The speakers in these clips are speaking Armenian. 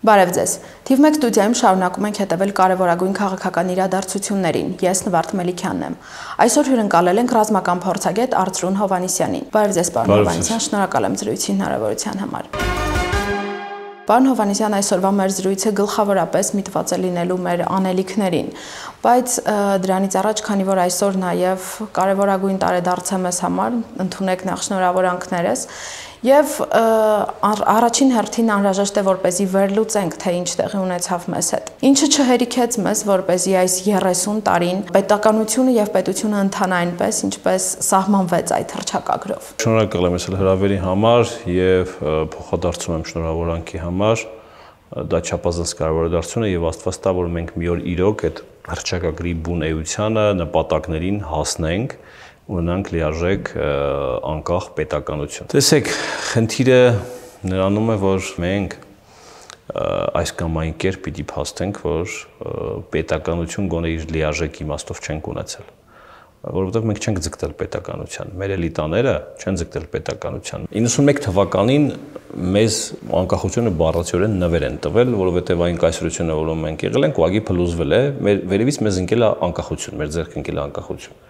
Բարև ձեզ։ Թիվ 1 ստուդիայում շարունակում ենք հետևել կարևորագույն քաղաքական իրադարձություններին։ Ես Նվարդ Մելիքյանն եմ։ Այսօր հյուրընկալել ենք ռազմական փորձագետ Արծրուն Հովհաննիսյանին։ Բարև ձեզ, պարոն Հովհաննիսյան, շնորհակալ եմ զրույցի հնարավորության համար։ Պարոն Հովհաննիսյան, այսօրվա մեր զրույցը գլխավորապես միտված է լինելու մեր անելիքներին, բայց դրանից առաջ, քանի որ այսօր նաև կարևորագույն տարեդարձ է մեզ համար, ընդունեք նախ շնորհավորանքներս եւ առաջին հերթին անհրաժեշտ է որպեսզի վերլուծենք, թե ինչ տեղի ունեցավ մեզ հետ։ Ինչը չհերիքեց մեզ, որպեսզի այս 30 տարին պետականությունը եւ պետությունը ընթանա այնպես, ինչպես սահմանվեց այդ հռչակագրով։ Շնորհակալ եմ հրավերի համար եւ փոխադարձում եմ շնորհավորանքի համար։ Դա չափազանց կարևոր է դարձությունը եւ Աստված տա, որ մենք մի օր իրոք այդ հռչակագրի բուն էությանը, նպատակներին հասնենք, ունենանք լիարժեք անկախ պետականություն։ Տեսեք, խնդիրը նրանում է, որ մենք այս կամ այն կերպ պիտի փաստենք, որ պետականություն գոնե իր լիարժեք իմաստով չենք ունեցել, որովհետև մենք չենք ձգտել պետականության, մեր էլիտաները չեն ձգտել պետականության։ 91 թվականին մեզ անկախությունը բառացիորեն նվեր են տվել, որովհետև այն կայսրությունը, որում մենք եղել ենք, ուղղակի փլուզվել է, վերևից մեզ ընկել է անկախություն, մեր ձեռք ընկել է անկախություն։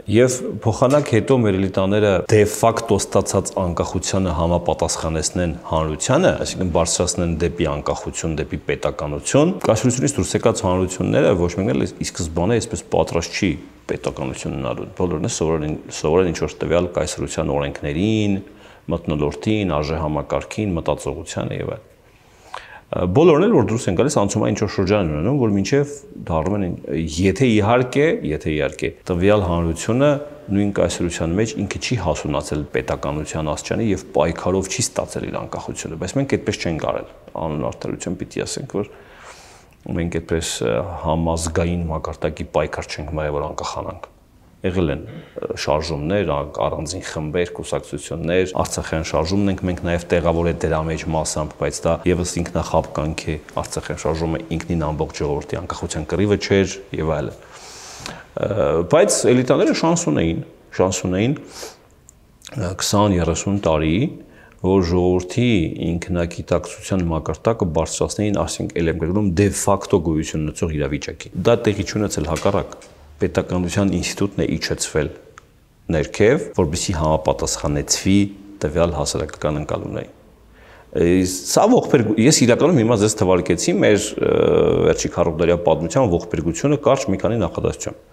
Եվ փոխանակ հետո մեր էլիտաները դե ֆակտո ստացած անկախությանը համապատասխանեցնեն հանրությանը, այսինքն բարձրացնեն դեպի անկախություն, դեպի պետականություն, կայսրությունից դուրս եկած հանրությունները ոչ մեկն էլ ի սկզբանե այսպես պատրաստ չի պետականություն ունենալու։ Բոլորն սովորեն ինչ-որ տվյալ կայսրության օրենքներին, մթնոլորտին, արժեհամակարգին, մտածողությանը եւ այլն։ Բոլորն էլ որ դուրս են գալիս անցումային ինչ-որ շրջան են ունենում, որ մինչև դառնում են, եթե իհարկե տվյալ հանրությունը նույն կայսրության մեջ ինքը չի հասունացել պետականության աստիճանի եւ պայքարով չի ստացել իր անկախությունը, բայց մենք այդպես չենք արել։ Անուն արդարություն պիտի ասենք, որ մենք այդպես համազգային մակարդակի պայքար չենք մայր, որ անկախանանք։ Եղել են շարժումներ, առանձին խմբեր, կուսակցություններ, Արցախյան շարժումն ենք մենք նաև տեղավորել դրա մեջ մասամբ, բայց դա եւս ինքնախապկանք է։ Արցախյան շարժումը ինքնին ամբողջ ժողովրդի անկախության կռիվը չէր եւ այլն։ Բայց էլիտաները շանս ունեին 20-30 տարի, որ ժողովրդի ինքնագիտակցության մակարդակը բարձրացնեին, ասենք ել եմ գրում դե ֆակտո գոյություն ունեցող իրավիճակի։ Դա տեղի չունեցել հակառակ պետականության ինստիտուտն է իջեցվել ներքև, որպեսզի համապատասխանեցվի տվյալ հասարակական ընկալումներին։ Սա ողբերգություն, ես իրականում հիմա ձեզ թվարկեցի մեր վերջի 40-տարյա պատմության ողբերգությունը կարճ մի քանի նախադասությամբ։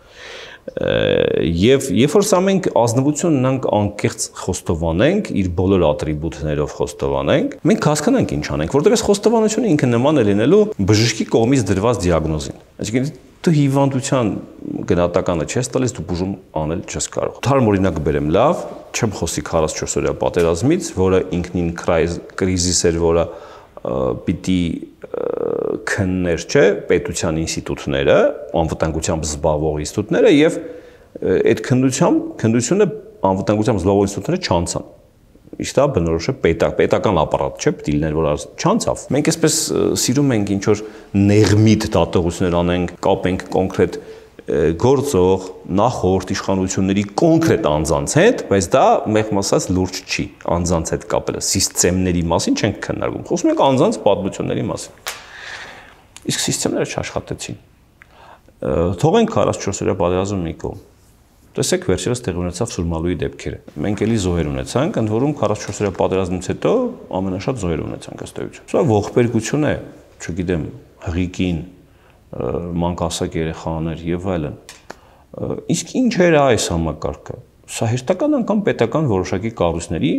Եվ երբ որ սա մենք ազնվություն ունենք անկեղծ խոստովանենք, իր բոլոր ատրիբուտներով խոստովանենք, մենք հասկանանք ինչ անենք, որտեղ այս խոստովանությունը ինքը նման է լինելու բժշկի կողմից դրված դիագնոզին։ Այսինքն դու հիվանդության գնահատականը չես տալիս, դու բուժում անել չես կարող։ Թարմ օրինակ բերեմ, լավ, չեմ խոսի 44-օրյա պատերազմից, որը ինքնին կրիզիս էր, որը պիտի քններ, չէ, պետության ինստիտուտները, անվտանգությամբ զբաղվող ինստիտուտները եւ այդ քննությունը անվտանգությամբ զբաղվող ինստիտուտները չանցան։ Իսկ դա բնորոշ է պետական ապարատ, չէ, պիտի լիներ, որ չանցավ։ Մենք այսպես սիրում ենք ինչ որ նեղմիտ դատողություններ անենք, կապենք կոնկրետ գործող նախորդ իշխանությունների կոնկրետ անձանց հետ, բայց դա մեղմ ասած լուրջ չի անձանց հետ կապելը, սիստեմների մասին չենք քննարկում, խոսում ենք անձանց պատմությունների մասին։ Իսկ սիստեմները չաշխատեցին։ Թողենք 44-օրյա պատերազմը մի կողմ։ Տեսեք վերջերս տեղի ունեցավ Սուրմալուի դեպքերը։ Մենք էլի զոհեր ունեցանք, ընդ որում 44-օրյա պատերազմից հետո ամենաշատ զոհեր ունեցանք ըստ էության։ Սա ողբերգություն է, չգիտեմ, հղիկին, մանկասակ երեխաներ եւ այլն։ Իսկ ինչ էր այս համակարգը։ Սա հերթական անգամ պետական որոշակի կառույցների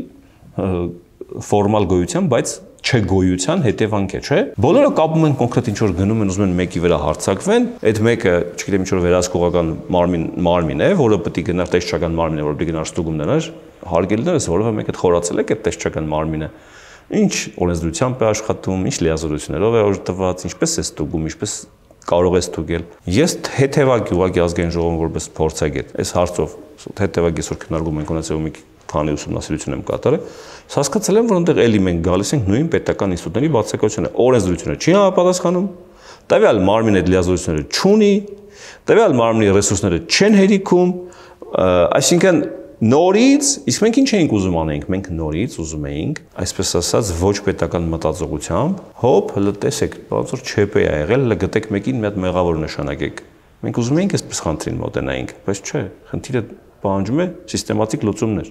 ֆորմալ գոյության, բայց չգոյության հետևանք է, չէ։ Բոլորը կապում են կոնկրետ ինչ որ գնում են, ուզում են մեկի վրա հարձակվեն, այդ մեկը, չգիտեմ, ինչ որ վերահսկողական մարմին է, որը պետք է գնար տեսչական մարմին է, որ պետք է գնար ստուգում դրանց, հարգելիներս, որովհետև մեկ այդ խորացել եք այդ տեսչական մարմինը։ Ինչ օրենսդրությամբ է աշխատում, ինչ լիազորություններով է օժտված, ինչպես է ստուգում, ինչպես կարող է ստուգել։ Ես հետևակի ուղղակի ազգային ժողովում որպես փորձագետ, այս հարցով հետևակի այսօր քննարկում ենք ունեցել մի քանի ուսումնասիրություն եմ կատարել, հասկացել եմ, որ այնտեղ էլի մենք գալիս ենք նույն պետական ինստիտուտների բացակայությունը, օրենսդրությունը չի համապատասխանում, տվյալ մարմին այդ լիազորությունները չունի, տվյալ մարմնի ռեսուրսները չեն հերիքում, այսինքն Նորից, իսկ մենք ինչ էինք ուզում անենք, մենք նորից ուզում էինք, այսպես ասած, ոչ պետական մտածողությամբ, հոп, հələ տեսեք, ոնց որ ՉՊ-ը եղել, հələ գտեք մեկին մի հատ մեղավոր նշանակեք։ Մենք ուզում էինք այսպես խնդրին մոտենայինք, բայց չէ, խնդիրը պահանջում է սիստեմատիկ լուծումներ։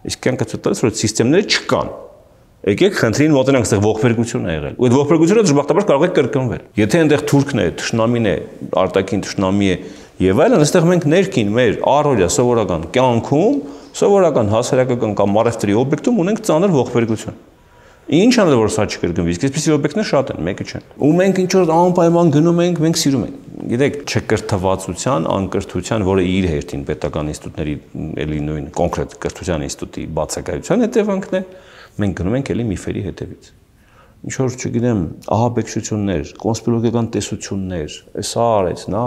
Իսկ կյանքը ցույց որ սիստեմները չկան։ Եկեք խնդրին մոտենանք, այստեղ ողբերգություն է եղել։ Ու այդ ողբերգությունը դժբախտաբար կարող է կրկնվել։ Եթե այնտեղ թուրքն է, թշնամին է, արտաքին թշնամի է եւ այլն, այստեղ մենք ներքին մեր առօրյա սովորական կյանքում, սովորական հասարակական կամ առևտրի օբյեկտում ունենք ծանր ողբերգություն։ Ինչ անել որ սա չկրկնվի, իսկ այսպիսի օբյեկտներ շատ են, մեկը չեն։ Ու մենք ինչ որ անպայման գնում ենք, մենք սիրում ենք։ Գիտեք, չկրթվածության, անկրթության, որը իր հերթին պետական ինստիտուտների էլի նույն կոնկրետ կրթության ինստիտուտի բացակայության հետևանքն է, մենք գնում ենք էլի միֆերի հետևից։ Ինչ որ չգիտեմ, ահաբեկչություններ, կոնսպիրոլոգիական տեսություններ, սա արեց, նա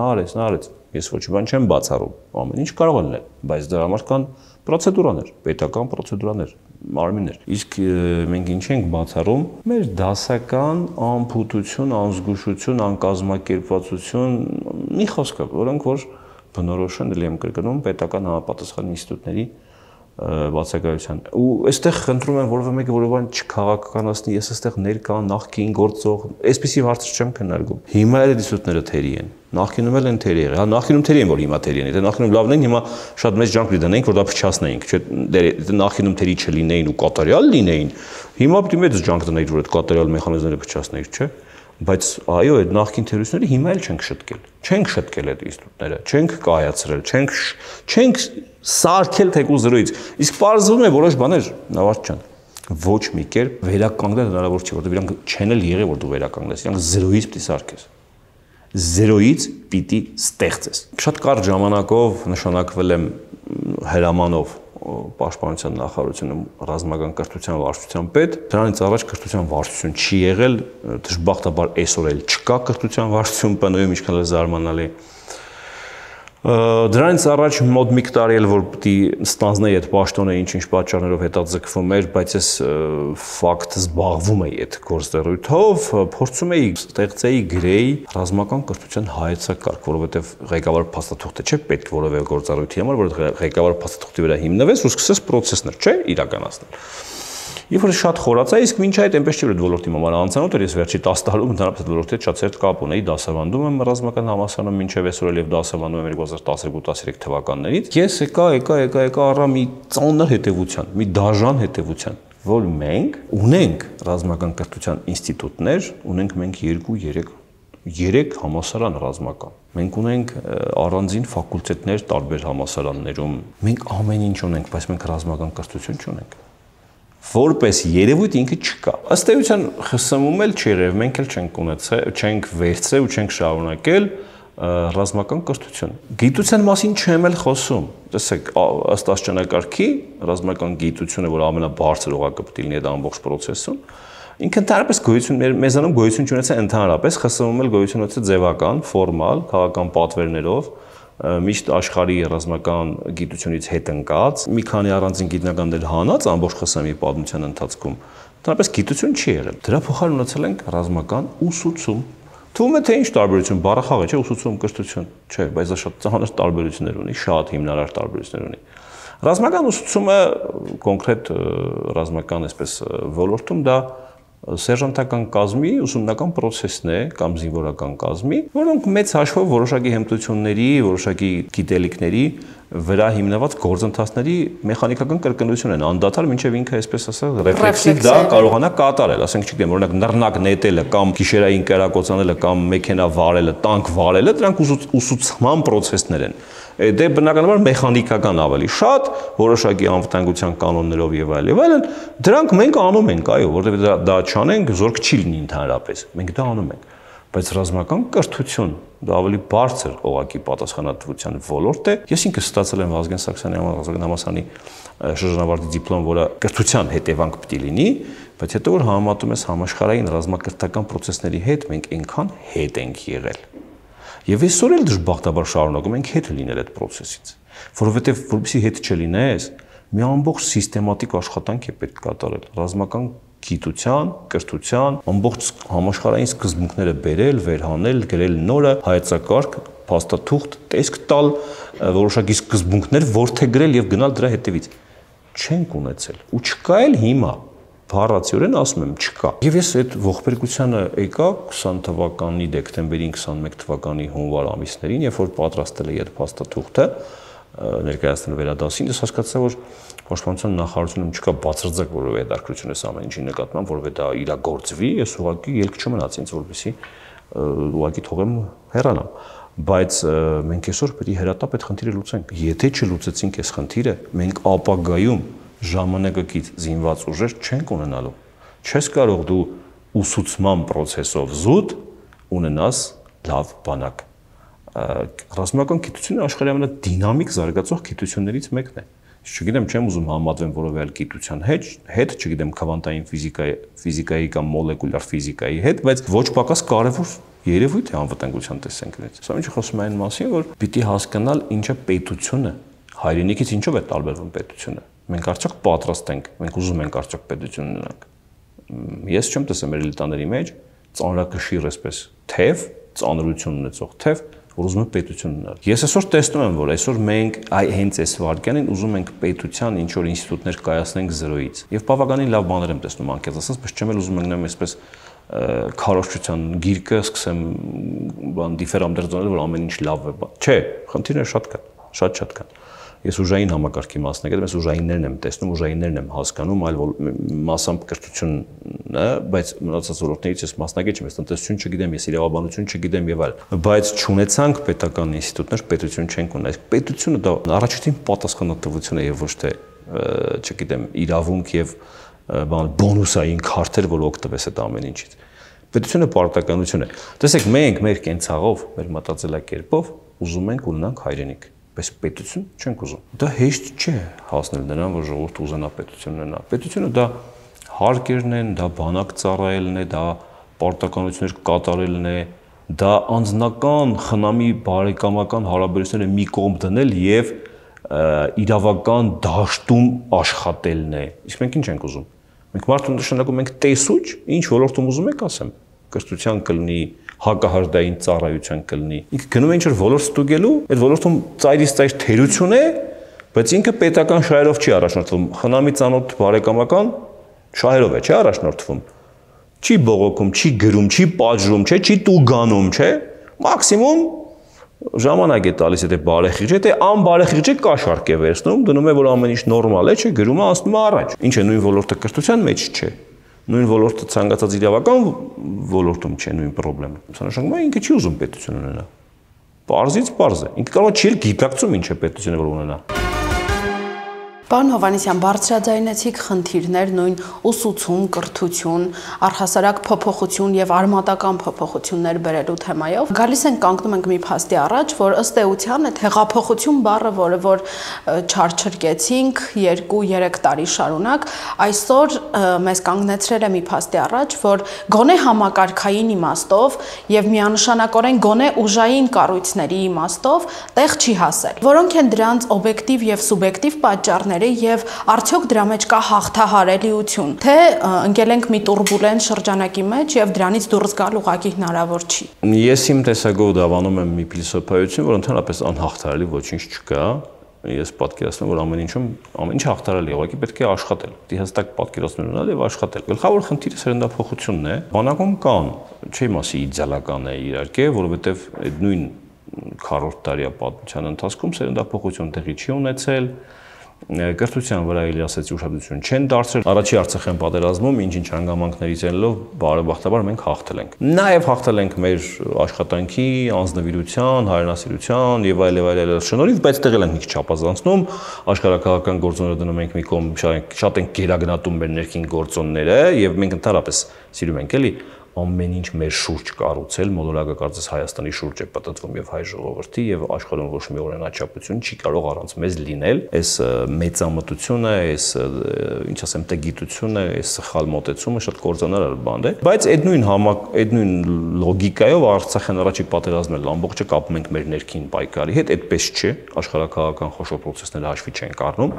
արեց։ Ես ոչ մի բան չեմ բացառում, ամեն ինչ կարող է լինել, բայց դրա համար կան պրոցեդուրաներ, պետական պրոցեդուրաներ, մարմիններ։ Իսկ մենք ինչ ենք բացառում, մեր դասական անփութություն, անզգուշություն, անկազմակերպվածություն, մի խոսքով, որոնք որ բնորոշ են, դեռ եմ կրկնում, պետական համապատասխան ինստիտուտների բացակայության։ Ու այստեղ խնդրում եմ որևէ մեկը որևէ բան չքաղաքականացնի, ես այստեղ ներկա նախկին գործող, այսպիսի հարցեր չեմ քննարկում։ Հիմա էլ ինստիտուտները թերի են։ Նախկինում էլ են թերի եղել։ Հա նախկինում թերի են, որ հիմա թերի են։ Եթե նախկինում լավն են, հիմա շատ մեծ ջանք դնենք, որ դա փչացնեինք, չէ՞։ Եթե նախկինում թերի չլինեին ու կատարյալ լինեին, հիմա պետք է մեծ ջանք դնենք, որ այդ կատարյալ մեխանիզմները փչացնեինք, չէ՞։ Բայց այո, այդ նախկին թերությունները հիմա էլ չենք շտկել։ Չենք շտկել այդ ինստիտուտները, չենք կայացրել, չենք սարքել թեկուզ զրոյից։ Իսկ պարզվում է որոշ բաներ, Նավարդ ջան, ոչ մի կերպ վերականգնել հնարավոր չի, որովհետև իրանք չեն էլ եղել, որ դու վերականգնես, իրանք զրոյից պիտի սարքես։ Զերոյից պիտի ստեղծես։ Շատ կարճ ժամանակով նշանակվել եմ հրամանով Պաշտպանության նախարարությունում ռազմական կրթության վարչության պետ։ Դրանից առաջ կրթության վարչություն չի եղել, դժբախտաբար այսօր էլ չկա կրթության վարչություն ՊՆ-ում, ինչքան էլ զարմանալի։ Դրանից առաջ մոտ մի տարի էլ որ պիտի ստանձնեի այդ պաշտոնը ինչ-ինչ պատճառներով հետաձգվում էր, բայց ես ֆակտ զբաղվում էի այդ գործառույթով, փորձում էի ստեղծեի գրեի ռազմական կրթության հայեցակարգ, որովհետև ղեկավար փաստաթուղթը չէ պետք որևէ գործառույթի համար, որ ղեկավար փաստաթուղթի վրա հիմնվես ու սկսես պրոցեսներ, չէ, իրականացնել։ Երբ որ շատ խորացա, իսկ մինչ այդ այնպես չի որ այդ ոլորտի համար անծանոթ էր, ես վերջի 10 տարում ընդհանրապես այդ ոլորտի հետ շատ ծեր կապ ունեի, դասավանդում եմ ռազմական համալսարանում մինչև այսօր էլ եւ դասավանդում եմ 2012-13 թվականներից։ Ես եկա առա մի ծանր հետևության, մի դաժան հետևության, որ մենք ունենք ռազմական կրթության ինստիտուտներ, ունենք մենք 2-3 համալսարան ռազմական։ Մենք ունենք առանձին ֆակուլտետներ տարբեր համալսարաններում։ Մենք ամեն ինչ ունենք, բայց մենք ռազմական կրթություն չունենք։ Որպես երևույթ ինքը չկա։ Ըստ էության ԽՍՀՄ-ում էլ չերև, մենք էլ չենք ունեցել, չենք վերցրել ու չենք շարունակել ռազմական կրթություն։ Գիտության մասին չեմ էլ խոսում։ Տեսեք, ըստ աստիճանակարգի ռազմական գիտությունը, որ ամենաբարձր օղակը պետք է լինի այդ ամբողջ process-ում, ինքը ընդհանրապես գոյություն մեզանում գոյություն չունեցել ընդհանրապես, ԽՍՀՄ-ում էլ գոյություն ունեցել ձևական, ֆորմալ, քաղաքական պատվերներով, միշտ աշխարհի ռազմական գիտությունից հետ ընկած, մի քանի առանձին գիտնականներ հանած ամբողջ ԽՍՀՄ-ի պատմության ընթացքում, ընդհանրապես գիտություն չի եղել։ Դրա փոխարեն ունեցել ենք ռազմական ուսուցում։ Թվում է թե ինչ տարբերություն, բառախաղ է, չէ՞, ուսուցում, կրթություն, չէ, բայց դա շատ ծանր տարբերություններ ունի, շատ հիմնարար տարբերություններ ունի։ Ռազմական ուսուցումը կոնկրետ ռազմական այսպես ոլորտում դա սերժանտական կազմի ուսումնական process-ն է կամ զինվորական կազմի, որոնք մեծ հաշվով որոշակի հմտությունների, որոշակի գիտելիքների վրա հիմնված գործընթացների մեխանիկական կրկնություն են անդադար, մինչև ինքը այսպես ասած ռեֆլեքսիվ դա կարողանա կատարել, ասենք չգիտեմ, օրինակ նռնակ նետելը կամ գիշերային կերակոծանելը կամ մեքենա վարելը, տանկ վարելը, դրանք ուսուցման process-ներ են։ Դե բնականաբար մեխանիկական ավելի շատ, որոշակի անվտանգության կանոններով եւ այլն, դրանք մենք անում ենք, այո, որովհետեւ դա չանենք, զորք չի լինի ընդհանրապես։ Մենք դա անում ենք։ Բայց ռազմական կրթություն դա ավելի բարձր օղակի պատասխանատվության ոլորտ է։ Ես ինքս ստացել եմ Վազգեն Սարգսյանի ռազմական համալսարանի շրջանավարտի դիպլոմ, որը կրթության հետևանք պետք է լինի, բայց հետո որ համեմատում ես համաշխարհային ռազմակրթական process-ների հետ, մենք այնքան հետ ենք եղել։ Եվ այսօր էլ դժբախտաբար շարունակում ենք հետ լինել այդ process-ից, որովհետև որպեսզի հետ չլինես, մի ամբողջ սիստեմատիկ աշխատանք է պետք կատարել, ռազմական գիտության, կրթության, ամբողջ համաշխարհային սկզբունքները բերել, վերհանել, գրել նորը, հայեցակարգ, փաստաթուղթ, տեսք տալ, որոշակի սկզբունքներ ворթեգրել եւ գնալ դրա հետևից։ Չենք ունեցել։ Ու չկա էլ հիմա։ Բառացիորեն ասում եմ, չկա։ Եվ ես այդ ողբերգությանը եկա 20 թվականի դեկտեմբերին, 21 թվականի հունվար ամիսներին, երբ որ պատրաստել էի այդ փաստաթուղթը, ներկայացնել վերադասին, ես հասկացա, որ Պաշտպանության նախարարությունում չկա բացարձակ որևէ հետաքրքրություն այս ամեն ինչի նկատմամբ, որովհետեւ դա իրագործվի, ես ուղղակի ելք չմնաց ինձ, որպեսզի ուղղակի թողեմ հեռանամ։ Բայց մենք այսօր պետք է հերատապ այդ խնդիրը լուծենք։ Եթե չլուծեցինք այս խնդիրը, մենք ապագայում ժամանակակից զինված ուժեր չենք ունենալու։ Չես կարող դու ուսուցման process-ով զուտ ունենաս լավ բանակ։ Ռազմական գիտությունը աշխարհի ամենադինամիկ զարգացող գիտություններից մեկն է։ Չգիտեմ, չեմ ուզում համատվեմ որևէ այլ գիտության հետ, չգիտեմ, քվանտային ֆիզիկայի կամ մոլեկուլյար ֆիզիկայի հետ, բայց ոչ պակաս կարևոր երևույթ է անվտանգության տեսանկյունից։ Սա ինչը խոսում է այն մասին, որ պիտի հասկանալ ինչը պետությունը, հայրենիքից ինչով է տարբերվում պետությունը։ Մենք արդյոք պատրաստ ենք, մենք ուզում ենք արդյոք պետություն ունենանք։ Ես չեմ տեսել մեր էլիտաների մեջ ծանրակշիռ այսպես թև, ծանրություն ունեցող թև, որ ուզում են պետություն ունենալ։ Ես այսօր տեսնում եմ, որ այսօր մենք հենց այս վարքյանին ուզում ենք պետության ինչ որ ինստիտուտներ կայացնենք զրոյից։ Եվ բավականին լավ բաներ եմ տեսնում անկեղծ ասած, բայց չեմ էլ ուզում ընկնեմ այսպես քարոզչության գիրկը, սկսեմ բան դիֆերամդերձոնել, որ ամեն ինչ լավ է։ Չէ, խնդիրները շատ կան, շատ կան։ Ես ուժային համակարգի մասնակից եմ, ես ուժայիններն եմ տեսնում, ուժայիններն եմ հասկանում, այլ մասամբ կրթությունը, բայց մնացած ոլորտներից ես մասնակից չեմ, ես տնտեսություն չգիտեմ, ես իրավաբանություն չգիտեմ եւ այլ։ Բայց չունեցանք պետական ինստիտուտներ, պետություն չենք ունենա։ Այս պետությունը դա առաջին պատասխանատվություն է եւ ոչ թե, չգիտեմ, իրավունք եւ բոնուսային քարտեր, որ օգտվես այդ ամեն ինչից։ Պետությունը պարտականություն է։ Տեսեք, մենք մեր կենցաղով, մեր մտածելակերպով ուզում ենք ունենանք հայրենիք, բայց պետություն չենք ուզում։ Դա հեշտ չէ հասնել նրան, որ ժողովուրդը ուզենա պետություն ունենա։ Պետությունը դա հարկերն են, դա բանակ ծառայելն է, դա պարտականություններ կատարելն է, դա անձնական խնամի բարեկամական հարաբերությունները մի կողմ դնել եւ իրավական դաշտում աշխատելն է։ Իսկ մենք ինչ ենք ուզում։ Մենք մարդուն նշանակում ենք տեսուչ, ինչ ոլորտում ուզում եք ասեմ, կրթության կլինի, հակահարդային ծառայության կլինի։ Ինքը գնում է ինչ-որ ոլորտ ստուգելու, այդ ոլորտում ծայրից ծայր թերություն է, բայց ինքը պետական շահերով չի առաջնորդվում, խնամի ծանոթ բարեկամական շահերով է, չի առաջնորդվում։ Չի բողոքում, չի գրում, չի պատժում, չի տուգանում, չէ։ Մաքսիմում ժամանակ է տալիս եթե բարեխիղճ է, թե անբարեխիղճ է կաշառք է վերցնում, դնում է որ ամեն ինչ նորմալ է, չէ, գրում է ասում է առաջ։ Ինչ է նույն ոլորտը կրթության մեջ չէ։ Նույն ոլորտը ցանկացած իրավական ոլորտում չէ նույն խնդրեմը։ Սա նշանակում է ինքը չի ուզում պետություն ունենա։ Պարզից պարզ է։ Ինքը կարող է չի գիտակցում ինչ է պետությունը որ ունենա։ Պարոն Հովհաննիսյան, բարձրաձայնեցիք խնդիրներ նույն ուսուցում, կրթություն, առհասարակ փոփոխություն եւ արմատական փոփոխություններ բերելու թեմայով։ Գալիս ենք կանգնում ենք մի փաստի առաջ, որ ըստ էության այդ հեղափոխություն բառը, որ չարչրկեցինք 2-3 տարի շարունակ, այսօր մեզ կանգնեցրել է մի փաստի առաջ, որ գոնե համակարգային իմաստով եւ միանշանակորեն գոնե ուժային կառույցների իմաստով տեղ չի հասել։ Որոնք են դրանց օբյեկտիվ եւ սուբյեկտիվ պատճառները եւ արդյոք դրա մեջ կա հաղթահարելիություն, թե ընկել ենք մի տուրբուլենտ շրջանակի մեջ եւ դրանից դուրս գալ ուղղակի հնարավոր չի։ Ես իմ տեսակով դավանում եմ մի փիլիսոփայություն, որ ընդհանրապես անհաղթահարելի ոչինչ չկա։ Ես պատկերացնում որ ամեն ինչ հաղթահարելի է, ուղղակի պետք է աշխատել։ Դի հստակ պատկերացում ունենալ եւ աշխատել։ Գլխավոր խնդիրը սերնդափոխությունն է։ Բանակում կան, չի մասի իդեալական է իհարկե, որովհետեւ այդ նույն 40 տարյա պատմության ընթացքում սերնդափոխություն տեղի չի ունեցել։ Կրթության վրա էլի ասեցի ուշադրություն չեն դարձրել։ Առաջի Արցախյան պատերազմում ինչ-ինչ հանգամանքներից ելնելով բարեբախտաբար մենք հաղթել ենք։ Նաև հաղթել ենք մեր աշխատանքի, անձնվիրության, հայրենասիրության եւ այլ շնորհիվ, բայց տեղել ենք մի քիչ չափազանցնում, աշխարհակաղակական գործոնները դնում ենք մի կողմ, շատ ենք գերագնահատում մեր ներքին գործոնները եւ մենք ընդհանրապես սիրում ենք էլի ամեն ինչ մեր շուրջ կառուցել, մոլորակը կարծես Հայաստանի շուրջ է պատտվում եւ հայ ժողովրդի եւ աշխարհում ոչ մի օրինաչափություն չի կարող առանց մեզ լինել։ Այս մեծամտությունը, այս ինչ ասեմ, տեգիտությունը, այս սխալ մոտեցումը շատ կործանարար բան է։ Բայց այդ նույն լոգիկայով Արցախյան առաջի պատերազմն էլ ամբողջը կապում ենք մեր ներքին պայքարի հետ, այդպես չէ, աշխարհակաղակական խոշոր process-ները հաշվի չեն առնում։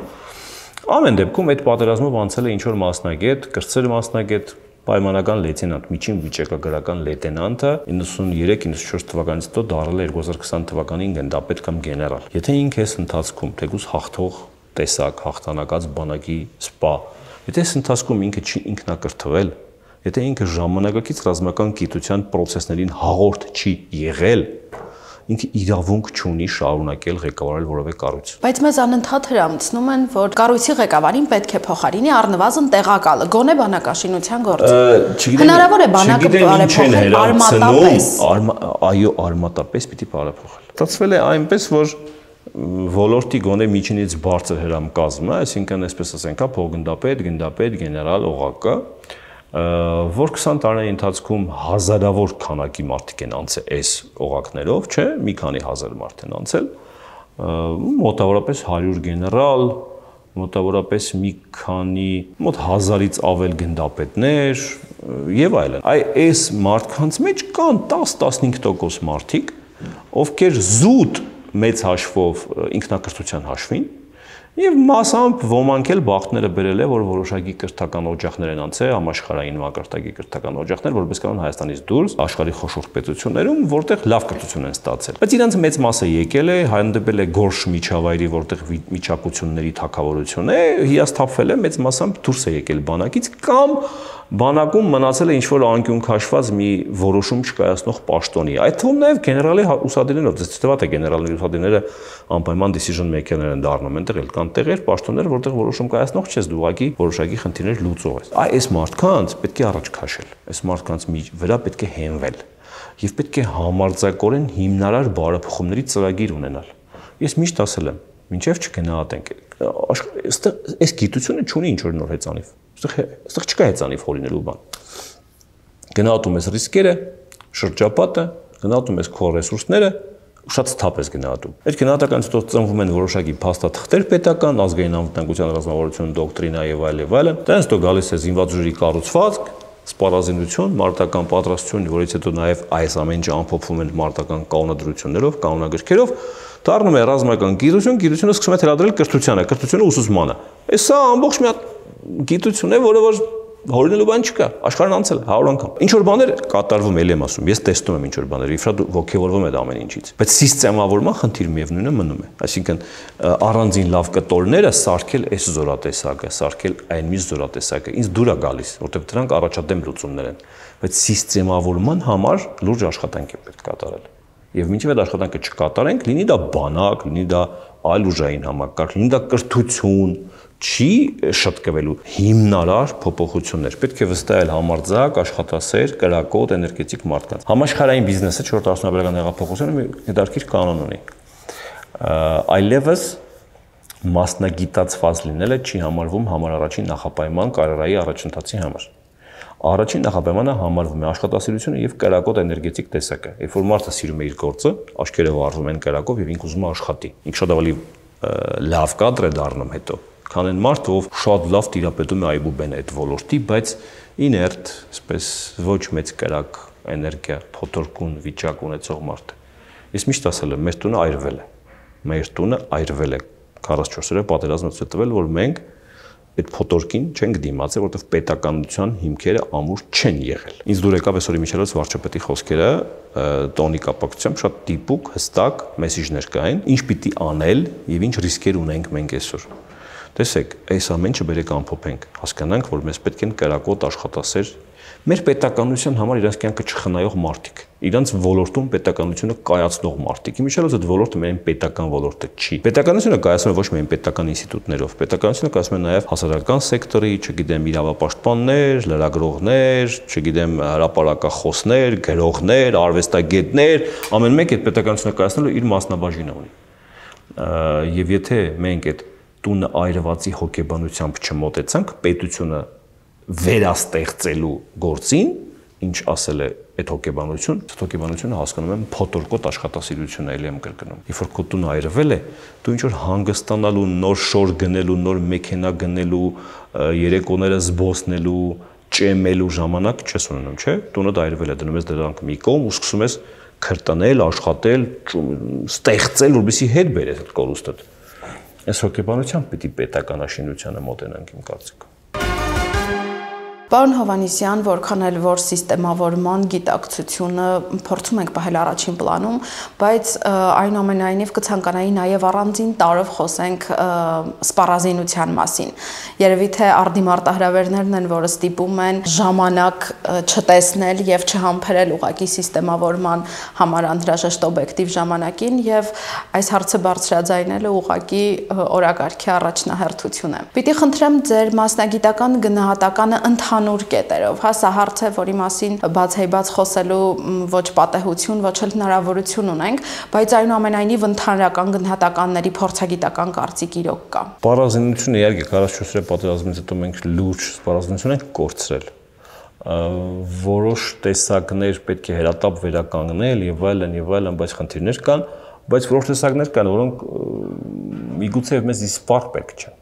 Ամեն դեպքում այդ պատերազմով անցել է ինչ որ մասնագետ, կրտսեր մասնագետ, պայմանական լեյտենանտ, միջին վիճակագրական լեյտենանտը 93-94 թվականից հետո դառել է 2020 թվականին գնդապետ կամ գեներալ։ Եթե ինքը այս ընթացքում թեկուզ հաղթող տեսակ, հաղթանակած բանակի սպա, եթե այս ընթացքում ինքը չի ինքնակրթվել, եթե ինքը ժամանակակից ռազմական գիտության պրոցեսներին հաղորդ չի եղել, ինքը իրավունք չունի շարունակել ղեկավարել որևէ կառույց։ Բայց մեզ անընդհատ հրամցնում են, որ կառույցի ղեկավարին պետք է փոխարինի առնվազն տեղակալը, գոնե բանակաշինության գործում։ Հնարավոր է բանակը բարեփոխել արմատապես։ Այո, արմատապես պիտի բարեփոխել։ Ստացվել է այնպես, որ ոլորտի գոնե միջինից բարձր հրամկազմը, այսինքն այսպես ասենք, փոխգնդապետ, գնդապետ, գեներալ, օղակը, որ 20 տարիների ընթացքում հազարավոր քանակի մարդիկ են անցել այս օղակներով, չէ, մի քանի հազար մարդ են անցել, մոտավորապես 100 գեներալ, մոտավորապես մի քանի, մոտ 1000-ից ավել գնդապետներ եւ այլն։ Այս մարդկանց մեջ կան 10-15% մարդիկ, ովքեր զուտ մեծ հաշվով ինքնակրթության հաշվին եւ մասամբ ոմանք էլ բախտները բերել է, որ որոշակի կրթական օջախներ են անցել, համաշխարհային մակարդակի կրթական օջախներ, որպես կանոն Հայաստանից դուրս, աշխարհի խոշոր պետություններում, որտեղ լավ կրթություն են ստացել։ Բայց իրանց մեծ մասը եկել է, հանդիպել է գորշ միջավայրի, որտեղ միջակությունների թակավորություն է, հիասթափվել է, մեծ մասամբ դուրս է եկել բանակից կամ բանակում մնացել է ինչ-որ անկյուն քաշված մի որոշում չկայացնող պաշտոնի։ Այդ թվում նաև գեներալի ուսադիրներով, դες թվաց է գեներալների ուսադիրները անպայման decision maker-ներ են դառնում, այնտեղ էլ կան տեղեր, պաշտոններ, որտեղ որոշում կայացնող չես դու ուղղակի որոշակի խնդիրներ լուծող ես։ Այս մարդկանց պետք է առաջ քաշել։ Այս մարդկանց վրա պետք է հենվել եւ պետք է համարձակորեն հիմնարար բարեփոխումների ծրագիր ունենալ։ Ես միշտ ասել եմ, մինչեւ չգնահատենք, այս գիտությունը չունի ինչ-որ նոր հեծանիվ։ Այստեղ չկա հեծանիվ հորինելու բան։ Գնահատում ես ռիսկերը, շրջապատը, գնահատում ես քո ռեսուրսները, շատ սթափ ես գնահատում։ Այդ գնահատականից հետո ծնվում են որոշակի փաստաթղթեր պետական, ազգային անվտանգության ռազմավարություն, դոկտրինա եւ այլն։ Դրանից հետո գալիս է զինված ուժերի կառուցվածք, սպառազինություն, մարտական պատրաստություն, որից հետո նաև այս ամենը ամփոփվում են մարտական կանոնադրություններով, կանոնագրքերով, դառնում է ռազմական գիտություն, գիտությունը սկսում է թելադրել կրթությանը, կրթությունը ուսուցմանը։ Սա ամբողջ մի հատ գիտություն է, որը որ հորինելու բան չկա, աշխարհն անցել է 100 անգամ։ Ինչ որ բաներ կատարվում էլ եմ ասում, ես տեսնում եմ ինչ որ բաներ, իհարկե ոգևորվում եմ ամեն ինչից, բայց սիստեմավորման խնդիր միևնույնը մնում է։ Այսինքն առանձին լավ կտորները սարքել այս զորատեսակը, սարքել այն մի զորատեսակը, ինձ դուր է գալիս, որտեղ դրանք առաջադեմ լուծումներ են, բայց սիստեմավորման համար լուրջ աշխատանք է պետք կատարել։ Եվ մինչև այդ աշխատանքը չկատարենք, լինի դա բանակ, լինի դա այլ ուժային համակարգ, լինի դա կրթություն, չի շտկվելու հիմնարար փոփոխություններ։ Պետք է վստահել համարձակ, աշխատասեր, կրակոտ, էներգետիկ մարդկանց։ Համաշխարհային բիզնեսը 4-րդ արդյունաբերական հեղափոխությունը մի հետաքրքիր կանոն ունի։ Այլևս մասնագիտացված լինելը չի համարվում համար առաջին նախապայման կարիերայի առաջընթացի համար։ Առաջին նախապայմանը համարվում է աշխատասիրությունը եւ կրակոտ էներգետիկ տեսակը։ Երբ որ մարդը սիրում է իր գործը, աչքերը վառվում են կրակով եւ ինքը ուզում է աշխատի։ Ինքը շատ ավելի լավ կադր է դառնում հետո, քան այն մարդը, ով շատ լավ տիրապետում է այբուբեն այդ ոլորտի, բայց իներտ, այսպես ոչ մեծ կրակ էներգիա, փոթորկուն վիճակ ունեցող մարդ։ Ես միշտ ասել եմ, մեր տունը այրվել է։ Մեր տունը այրվել է 44 օրը պատերազմը ցույց տվել, որ մենք այդ փոթորկին չենք դիմացել, որովհետև պետականության հիմքերը ամուր չեն եղել։ Ինձ դուր եկավ այսօր Միչելոց վարչապետի խոսքերը տոնի կապակցությամբ շատ դիպուկ, հստակ մեսիջներ կային, ինչ պիտի անել եւ ինչ ռիսկեր ունենք մենք այսօր։ Տեսեք, այս ամենը բերեք ամփոփենք, հասկանանք, որ մեզ պետք են կրակոտ աշխատասեր, մեր պետականության համար իրենց կյանքը չխնայող մարդիկ, իրենց ոլորտում պետականությունը կայացնող մարդիկ։ Իմիջիալոց այդ ոլորտը միայն պետական ոլորտը չի։ Պետականությունը կայացնում է ոչ միայն պետական ինստիտուտներով, պետականությունը կայացնում է նաև հասարակական սեկտորի, չգիտեմ, իրավապաշտպաններ, լրագրողներ, չգիտեմ, հրապարակախոսներ, գրողներ, արվեստագետներ, ամեն մեկ այդ պետականությունը կայացնելու իր մասնաբաժինը ունի։ Եվ եթե մենք այդ տունը այրվածի հոգեբանությամբ չմոտեցանք պետությունը վերաստեղծելու գործին, ինչ ասել է այդ հոգեբանություն, այդ հոգեբանությունը հասկանում եմ փոթորկոտ աշխատասիրությունը էլի եմ կրկնում։ Երբ որ քո տունը այրվել է, դու ինչ որ հանգստանալու, նոր շոր գնելու, նոր մեքենա գնելու, երեկոները զբոսնելու, ճեմելու ժամանակ չես ունենում, չէ՞։ Տունը այրվել է, դնում ես դրանք մի կողմ ու սկսում ես քրտնել, աշխատել, ստեղծել, որպեսզի հետ բերես այդ կորուստը։ Այս հոգեբանությամբ պիտի պետականաշինությանը մոտենանք իմ կարծիքով։ Պարոն Հովհաննիսյան, որքան էլ որ սիստեմավորման գիտակցությունը փորձում ենք պահել առաջին պլանում, բայց այնուամենայնիվ կցանկանայի նաև առանձին տարով խոսենք սպառազինության մասին։ Երևի թե արդիմարտահրավերներն են, որը ստիպում են ժամանակ չտեսնել եւ չհամբերել ուղղակի սիստեմավորման համար անհրաժեշտ օբյեկտիվ ժամանակին եւ այս հարցը բարձրաձայնելը ուղղակի օրակարգի առաջնահերթություն է։ Պիտի խնդրեմ ձեր մասնագիտական գնահատականը ընդհանուր կետերով, հա, սա հարց է, որի մասին բացայբաց խոսելու ոչ պատեհություն, ոչ էլ հնարավորություն ունենք, բայց այնուամենայնիվ ընդհանրական գնահատականների փորձագիտական կարծիք իրոք կա։ Սպառազինությունը իհարկե 44-րդ պատերազմից հետո մենք լուրջ սպառազինություն ենք կորցրել։ Որոշ տեսակներ պետք է հերատապ վերականգնել եւ այլն, բայց խնդիրներ կան, բայց որոշ տեսակներ կան, որոնք միգուցե մեզ իսպառ պետք չեն։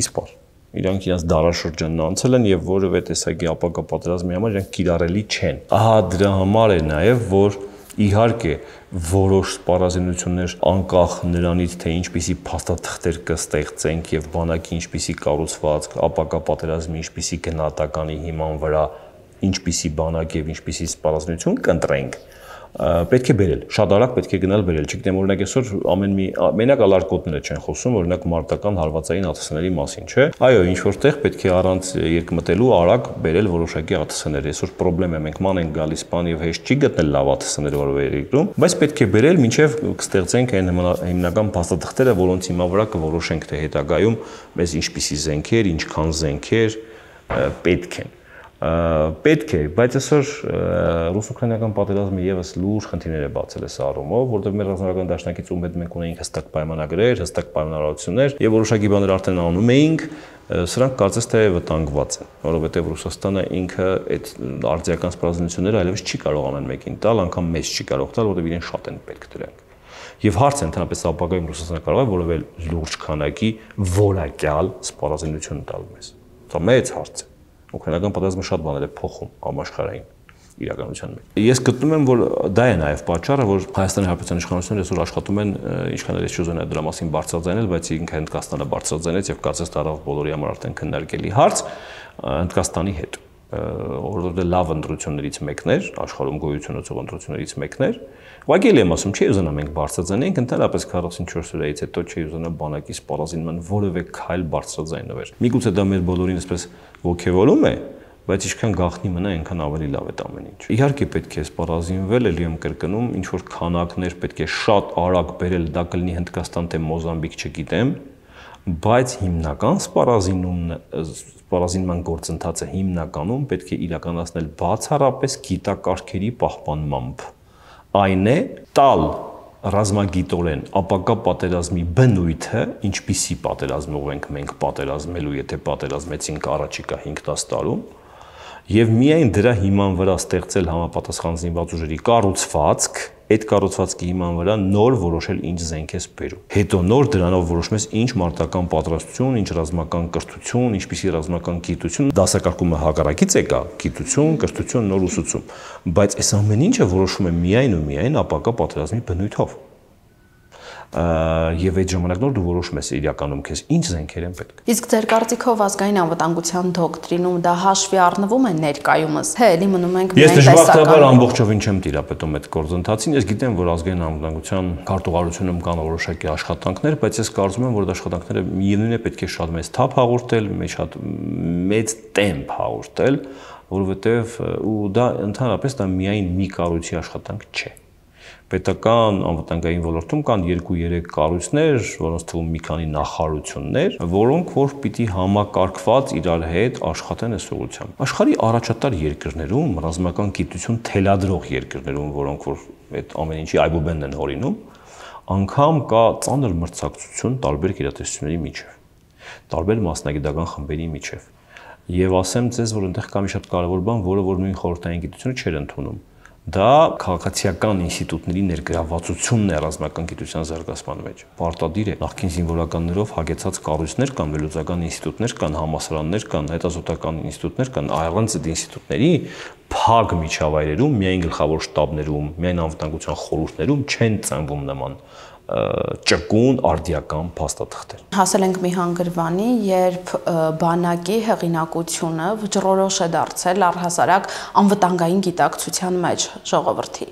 Իսպառ։ Իրանք իրենց դարաշրջանն անցել են եւ որևէ տեսակի ապակա պատերազմի համար իրանք կիրառելի չեն։ Ահա դրա համար է նաեւ, որ իհարկե որոշ սպառազինություններ անկախ նրանից, թե ինչպիսի փաստաթղթեր կստեղծենք եւ բանակի ինչպիսի կառուցվածք, ապակա պատերազմի ինչպիսի գնահատականի հիման վրա ինչպիսի բանակ եւ ինչպիսի սպառազինություն կընտրենք, պետք է բերել, շատ արագ պետք է գնալ բերել, չգիտեմ, օրինակ այսօր ամեն մի մենակ ալարկոտները չեն խոսում, օրինակ մարտական հարվածային ԱԹՍ-ների մասին, չէ՞։ Այո, ինչ որտեղ պետք է առանց երկմտելու արագ բերել որոշակի ԱԹՍ-ներ։ Այսօր խնդրեմ է, մենք ման ենք գալիս բան եւ հեշտ չի գտնել լավ ԱԹՍ-ներ որևէ երկրում, բայց պետք է բերել մինչեւ կստեղծենք այն հիմնական փաստաթղթերը, որոնց հիման վրա կորոշենք, թե հետագայում մեզ ինչպիսի զենքեր, ինչքան զենքեր պետք են։ Պետք է, բայց այսօր ռուս-ուկրաինական պատերազմը եւս լուրջ խնդիրներ է բացել այս առումով, որտեղ մեր ռազմական դաշնակից ում հետ մենք ունեինք հստակ պայմանագրեր, հստակ պայմանավորություններ եւ որոշակի բաներ արդեն անում էինք, սրանք կարծես թե վտանգված են, որովհետեւ Ռուսաստանը ինքը այդ արտադրական սպառազինությունները այլևս չի կարող ամեն մեկին տալ, անգամ մեզ չի կարող տալ, որովհետեւ իրեն շատ են պետք դրանք։ Եվ հարցը ընդհանրապես ապագայում Ռուսաստանը կարող է որևէ լուրջ քանակի որակյալ սպառազինություն տալ մեզ։ Դա մեծ հարց է։ Ուկրաինական պատերազմը շատ բաներ է փոխում համաշխարհային իրականության մեջ։ Ես գտնում եմ, որ դա է նաև պատճառը, որ Հայաստանի Հանրապետության իշխանությունները այսօր աշխատում են, ինչքան էլ չուզեն դրա մասին բարձրաձայնել, բայց ինքը Հնդկաստանը բարձրաձայնեց եւ կարծես դարավ բոլորի համար արդեն քննարկելի հարց Հնդկաստանի հետ, որովհետեւ լավ ընտրություններից մեկն էր, աշխարհում գոյություն ունեցող ընտրություններից մեկն էր։ Ուղղակի եմ ասում, չի ուզենա մենք բարձրաձայնենք, ընդհանրապես 44 օրից հետո չի ուզենա բանակի սպառազինման որևէ քայլ բարձրաձայնվեր։ Միգուցե դա մեր բոլորին այսպես ոգևորում է, բայց ինչքան գաղտնի մնա, այնքան ավելի լավ է ամեն ինչ։ Իհարկե պետք է սպառազինվել, ելի եմ կրկնում, ինչ որ քանակներ պետք է շատ արագ բերել, դա կլինի Հնդկաստան թե Մոզամբիկ, չգիտեմ, բայց հիմնական սպառազինման գործընթացը հիմնականում պետք է իրականացնել բացառապես գիտակարգերի պահպանմամբ։ Այն է տալ ռազմագիտորեն ապակա պատերազմի բնույթը, ինչպիսի պատերազմով ենք մենք պատերազմելու, եթե պատերազմեցինք առաջիկա 5-10 տարում, եւ միայն դրա հիման վրա ստեղծել համապատասխան զինված ուժերի կառուցվածք, այդ կառուցվածքի հիման վրա նոր որոշել ինչ զենք ես բերում։ Հետո նոր դրանով որոշում ես ինչ մարտական պատրաստություն, ինչ ռազմական կրթություն, ինչպիսի ռազմական գիտություն, դասակարգումը հակառակից է կա, գիտություն, կրթություն, նոր ուսուցում, բայց այս ամեն ինչը որոշում է միայն ու միայն ապակա պատերազմի բնույթով։ Եվ այդ ժամանակ նոր դու որոշում ես իրականում քեզ ինչ զենքեր են պետք։ Իսկ ձեր կարծիքով ազգային անվտանգության դոկտրինում դա հաշվի առնվում է ներկայումս, թե էլի մնում ենք միայն տեսական։ Ես դժբախտաբար ամբողջովին չեմ տիրապետում այդ գործընթացին, ես գիտեմ, որ ազգային անվտանգության քարտուղարությունում կան որոշակի աշխատանքներ, բայց ես կարծում եմ, որ այդ աշխատանքները միևնույն է պետք է շատ մեծ թափ հաղորդել, շատ մեծ տեմպ հաղորդել, որովհետև ու դա ընդհանրապես դա միայն մի կառույցի աշխատանք չէ։ Պետական անվտանգային ոլորտում կան 2-3 կառույցներ, որոնց թվում մի քանի նախարարություններ, որոնք որ պիտի համակարգված իրար հետ աշխատեն այս ուղղությամբ։ Աշխարհի առաջատար երկրներում, ռազմական գիտություն թելադրող երկրներում, որոնք որ այդ ամեն ինչի այբուբենն են հորինում, անգամ կա ծանր մրցակցություն տարբեր գիտատեսությունների միջև, տարբեր մասնագիտական խմբերի միջև։ Եվ ասեմ ձեզ, որ այնտեղ կա մի շատ կարևոր բան, որը որ նույն խորհրդային գիտությունը չէր ընդունում։ Դա քաղաքացիական ինստիտուտների ներգրավվածությունն է ռազմական գիտության զարգացման մեջ։ Պարտադիր է նախկին զինվորականներով հագեցած կառույցներ կան, վերլուծական ինստիտուտներ կան, համալսարաններ կան, հետազոտական ինստիտուտներ կան, առանց այդ ինստիտուտների փակ միջավայրերում, միայն գլխավոր շտաբներում, միայն անվտանգության խորհուրդներում չեն ծնվում նման ճկուն արդիական փաստաթղթեր։ Հասել ենք մի հանգրվանի, երբ բանակի հեղինակությունը վճռորոշ է դարձել առհասարակ անվտանգային գիտակցության մեջ ժողովրդի։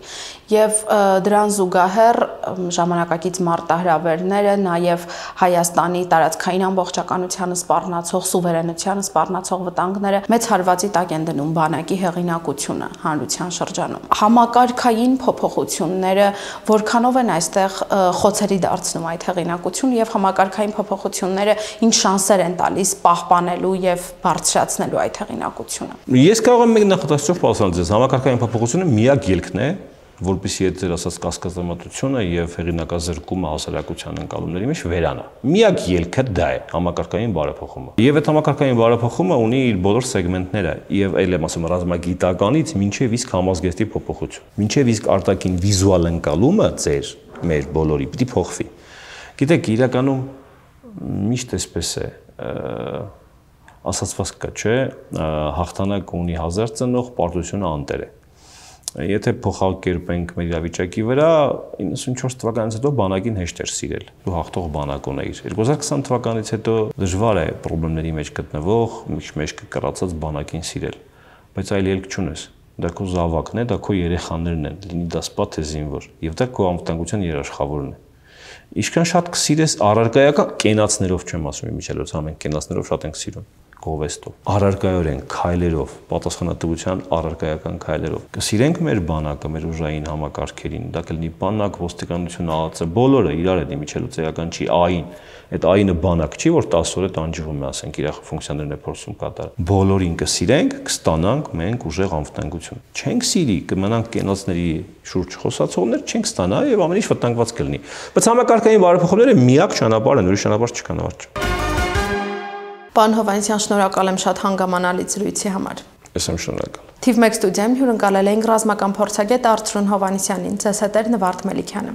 Եվ դրան զուգահեռ ժամանակակից մարտահրավերները, նաև Հայաստանի տարածքային ամբողջականությանը սպառնացող, սուվերենությանը սպառնացող վտանգները մեծ հարվածի տակ են դնում բանակի հեղինակությունը հանրության շրջանում։ Համակարգային փոփոխությունները որքանով են այստեղ խոցերի դարձնում այդ հեղինակությունը եւ համակարգային փոփոխությունները ինչ շանսեր են տալիս պահպանելու եւ բարձրացնելու այդ հեղինակությունը։ Ես կարող եմ մեկ նախադասությամբ պատասխանել ձեզ, համակարգային փոփոխությունը միակ ելքն է, որպեսզի այդ ձեր ասած կասկածամտությունը եւ հեղինակազրկումը հասարակության ընկալումների մեջ վերանա։ Միակ ելքը դա է համակարգային բարեփոխումը։ Եվ այդ համակարգային բարեփոխումը ունի իր բոլոր սեգմենտները եւ այլ եմ ասում ռազմագիտականից մինչեւ իսկ համազգեստի փոփոխություն։ Մինչեւ իսկ արտաքին վիզուալ ընկալումը ձեր մեր բոլորի պիտի փոխվի։ Գիտեք, իրականում միշտ էսպես է, ասացված կա, չէ, հաղթանակ ունի 1000 ծնող, պարտությունը անտեր է։ Եթե փոխակերպենք մեր իրավիճակի վրա, 94 թվականից հետո բանակին հեշտ էր սիրել։ Դու հաղթող բանակ ունեիր։ 2020 թվականից հետո դժվար է խնդիրների մեջ գտնվող, մեջ կկռացած բանակին սիրել, բայց այլ ելք չունես։ Դա քո զավակն է, դա քո երեխաներն են, լինի դա սպա թե զինվոր, եւ դա քո անվտանգության երաշխավորն է։ Ինչքան շատ կսիրես առարկայական կենացներով չեմ ասում, Միչելոց, ամեն կենացներով շատ ենք սիրում, գովեստով, առարկայորեն, քայլերով, պատասխանատվության առարկայական քայլերով։ Կսիրենք մեր բանակը, մեր ուժային համակարգերին, դա կլինի բանակ, ոստիկանություն, ԱԱՑ, բոլորը իրար է Միչելոց, էական չի ԱԻ-ն։ Այդ ԱԻ-ը բանակ չի, որ 10 օր է տանջվում է, ասենք, իր ֆունկցիաներն է փորձում կատարել։ Բոլորին կսիրենք, կստանանք մենք ուժեղ անվտանգություն։ Չենք սիրի, կմնանք կենացների շուրջ խոսացողներ, չենք ստանա եւ ամեն ինչ վտանգված կլինի։ Բայց համակարգային բարեփոխումները միակ ճանապարհն են, ուրիշ ճանապարհ չկա նավարջ։ Պարոն Հովհաննիսյան, շնորհակալ եմ շատ հանգամանալի զրույցի համար։ Ես եմ շնորհակալ։ Թիվ 1 ստուդիայում հյուրընկալել էինք ռազմական փորձագետ Արծրուն Հովհաննիսյանին, ձեզ հետ էր Նվարդ Մելիքյանը։